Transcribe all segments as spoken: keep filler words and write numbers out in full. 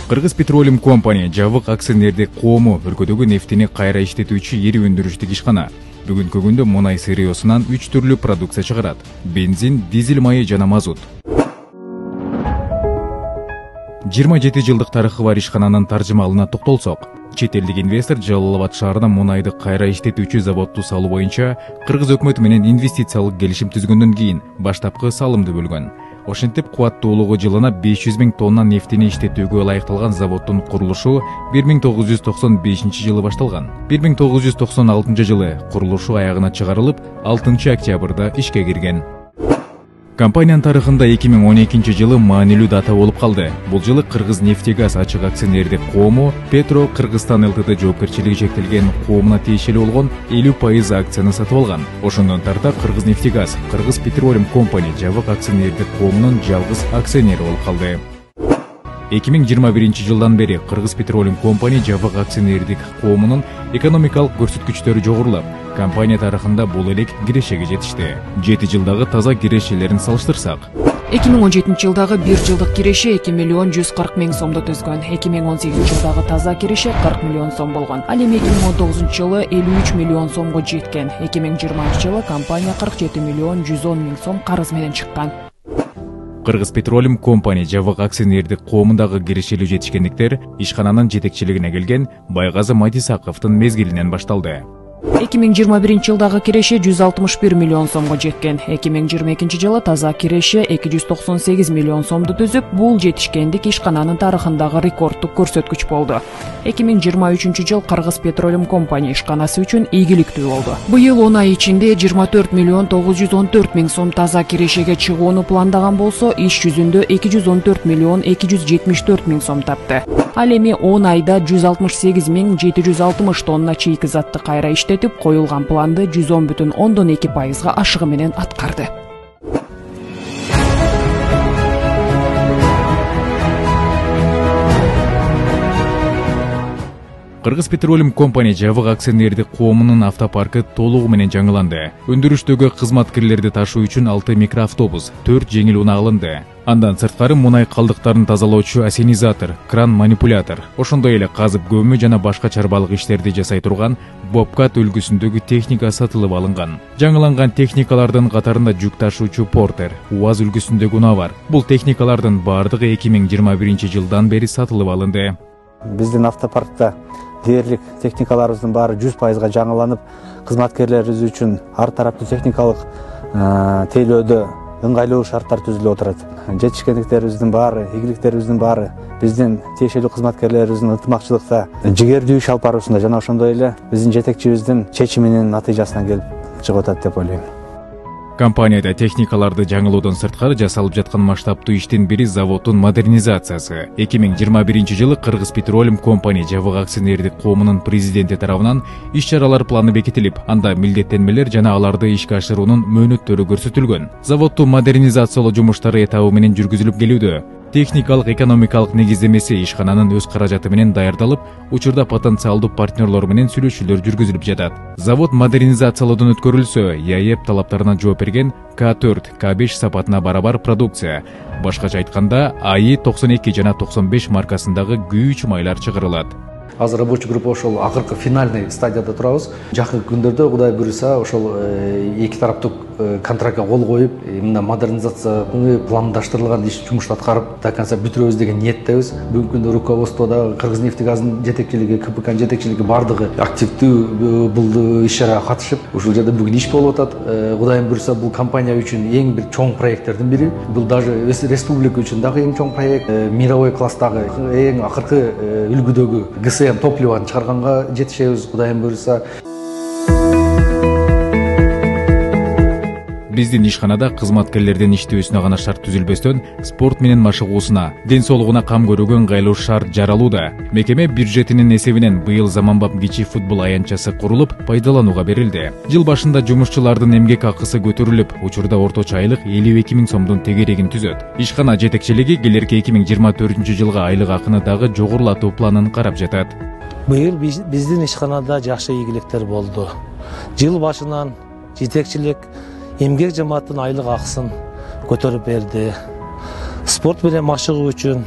Кыргыз Petroleum Company жабык акционердик коому өлкөдөгү нефтини кайра иштетүүчү ири өндүрүштүк ишкана. Бүгүнкү күндө мунай сырьёсунан үч түрлүү продукция чыгарат: бензин, дизель майы жана мазут. жыйырма жети жылдык тарыхы бар ишкананын таржымалына токтолсок, чет элдик инвестор Жалал Абад шаарына мунайды кайра иштетүүчү заводду салуу боюнча Кыргыз өкмөтү менен инвестициялык келишим түзгөндөн кийин баштапкы салымды бөлгөн. Ошентип кубаттуулугу жылына беш жүз миң тонна нефтини иштетүүгө ылайыкталган заводдун курулушу бир миң тогуз жүз токсон бешинчи жылы башталган. бир миң тогуз жүз токсон алтынчы жылы курулушу аягына чыгарылып, алтынчы октябрда ишке кирген. Компаниянын тарыхында эки миң он экинчи жылы маанилүү дата болуп калды. Бул жылы Кыргыз нефтегаз ачык акционердик коому Петро Кыргызстан ЛТД жоопкерчилиги чектелген коомуна тиешелүү болгон элүү пайыз акцияны сатып алган. Ошондон тарта Кыргыз нефтегаз Кыргыз Petroleum Company жабык акционердик коомунун жалгыз акционери болуп калды. эки миң жыйырма биринчи жылдан бери Кыргыз Petroleum Company жабык акционердик коомунун экономикалык көрсөткүчтөрү жогорулап, компания тарыхында бул элек кирешеге жетишти. жети жылдагы таза кирешелерин салыштырсак, эки миң он жетинчи жылдагы бир жылдык киреше эки миллион жүз кырк миң сомду түзгөн. эки миң он сегизинчи жылдагы таза киреше кырк миллион сом болгон. Ал эми эки миң он тогузунчу жылы элүү үч миллион сомго жеткен. эки миң жыйырманчы жылы компания кырк жети миллион жүз он миң сом карыз менен чыккан. Кыргыз Petroleum Company жабык акционердик коомундагы кирешелүү жетишкендиктер ишкананын жетекчилигине келген Байгазы Матисаковдун мезгилинен башталды. эки миң жыйырма биринчи жылдагы киреше жүз алтымыш бир миллион сомго жеткен. эки миң жыйырма экинчи жылы таза киреше эки жүз токсон сегиз миллион сомду түзүп, бул жетишкендик ишкананын тарыхындагы рекорддук көрсөткүч болду. эки миң жыйырма үчүнчү жыл Кыргыз Petroleum Company ишканасы үчүн ийгиликтүү болду. Быйыл он ай ичинде жыйырма төрт миллион тогуз жүз он төрт миң сом таза кирешеге чыгууну пландаган болсо, иш жүзүндө эки жүз он төрт миллион эки жүз жетимиш төрт миң сом тапты. Ал эми он айда жүз алтымыш сегиз миң жети жүз алтымыш тонна чийки затты кайра иштетип, коюлган планды жүз он бүтүн ондон эки пайызга ашыгы менен аткарды. Кыргыз Petroleum Company жабык акционердик коомунун автопаркы толугу менен жаңыланды. Өндүрүштөгү кызматкерлерди ташуу үчүн алты микроавтобус, төрт жеңил унаа алынды. Андан сырткары мунай калдыктарын тазалоочу ассенизатор, кран манипулятор, ошондой эле казып көмүү жана башка чарбалык иштерди жасай турган Bobcat үлгүсүндөгү техника сатылып алынган. Жаңыланган техникалардын катарында жүк ташуучу Porter, УАЗ үлгүсүндөгү унаа бар. Бул техникалардын баардыгы эки миң жыйырма биринчи жылдан бери сатылып алынды. Биздин автопаркта дээрлик техникаларыбыздын баары жүз пайызга жаңыланып, кызматкерлерибиз үчүн ар тараптуу техникалык тейлөөдө ыңгайлуу шарттар түзүлүп отурат. Жетишкендиктерибиздин баары, ийгиликтерибиздин баары биздин тиешелүү кызматкерлерибиздин ынтымакчылыкта, жигердүү иш алып баруусунда жана ошондой эле биздин жетекчибиздин чечиминин натыйжасынан келип чыгып атат деп ойлойм. Компанияда техникаларды жаңылоодон сырткары жасалып жаткан масштабтуу иштин бири заводдун модернизациясы. эки миң жыйырма биринчи жылы Кыргыз Petroleum Company жабык акционердик коомунун президенти тарабынан иш-чаралар планы бекитилип, анда милдеттенмелер жана аларды ишке ашыруунун мөөнөттөрү көрсөтүлгөн. Заводду модернизациялоо жумуштары этабы менен жүргүзүлүп келүүдө. Техникалык экономикалык негиздемеси ишкананын өз каражаты менен даярдалып, учурда потенциалдуу партнерлор менен сүйлөшүүлөр жүргүзүлүп жатат. Завод модернизациялоодон өткөрүлсө, ИАЭП талаптарына жооп берген К төрт, К беш сапатына барабар продукция. Башкача айтканда, АИ токсон эки жана токсон беш маркасындагы күйүүчү майлар чыгарылат. Азыр рабочий группа ошол акыркы финальный стадияда турабыз. Жакынкы күндөрдө Кудай буйруса ошол эки тараптуу контрактка кол коюп, мына модернизацияны пландаштырылган иш жумушту аткарып до конца бүтүрөбүз деген ниеттебиз. Бүгүнкү күндө руководстводо Кыргыз нефтегаздын жетекчилиги, КПКнын жетекчилиги бардыгы активдүү бул иш-чарага катышып, ушул жерде бүгүн иш болуп атат. Кудайым буйруса бул компания үчүн эң бир чоң проекттердин бири. Бул даже республика үчүн дагы эң чоң проект, мировой класстагы эң акыркы үлгүдөгү ГСМ топливону чыгарганга жетишебиз, Кудайым буйруса. Биздин ишканада кызматкерлердин иштөөсүнө гана шарт түзүлбөстөн, спорт менен машыгуусуна, ден соолугуна кам көрүүгө ыңгайлуу шарт жаралууда. Мекеме бюджетинин эсебинен быйыл заманбап кичи футбол аянтчасы курулуп, пайдаланууга берилди. Жыл башында жумушчулардын эмгек акысы көтөрүлүп, учурда орточо айлык элүү эки миң сомдун тегерегин түзөт. Ишкана жетекчилиги келерки эки миң жыйырма төртүнчү жылга айлык акыны дагы жогорулатуу планын карап жатат. Быйыл биздин ишканада жакшы ийгиликтер болду. Жыл башынан жетекчилик эмгек жамааттын айлык акысын көтөрүп берди. Спорт менен машыгуу үчүн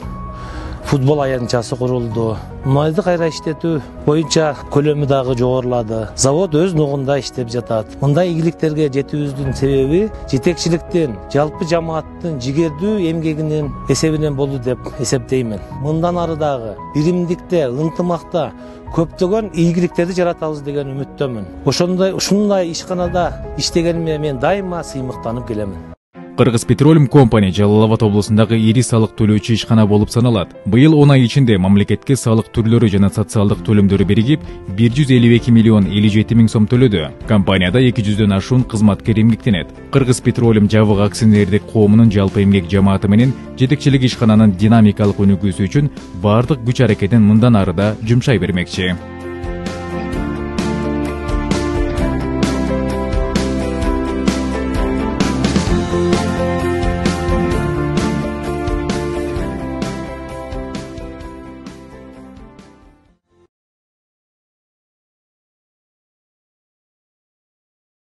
футбол аянтчасы курулду. Мунайды кайра иштетүү боюнча көлөмү дагы жогорулады. Завод өз нугунда иштеп жатат. Мындай ийгиликтерге жетүүбүздүн себеби жетекчиликтин, жалпы жамааттын жигердүү эмгегинин эсебинен болду деп эсептеймин. Мындан ары дагы биримдикте, ынтымакта көптөгөн ийгиликтерди жаратабыз деген үмүттөмүн. Ошондой ушундай ишканада иштегениме мен дайыма сыймыктанып келемин. Кыргыз Petroleum Company Жалал Абад облусундагы ири салык төлөөчү ишкана болуп саналат. Быйыл он ай ичинде мамлекетке салык түрлөрү жана социалдык төлөмдөрү биригип бир жүз элүү эки миллион элүү жети миң сом төлөдү. Компанияда эки жүздөн ашуун кызматкер эмгектенет. Кыргыз Petroleum жабык акционердик коомунун жалпы эмгек жамааты менен жетекчилик ишкананын динамикалык өнүгүүсү үчүн баардык күч аракетин мындан ары да жумшай бермекчи.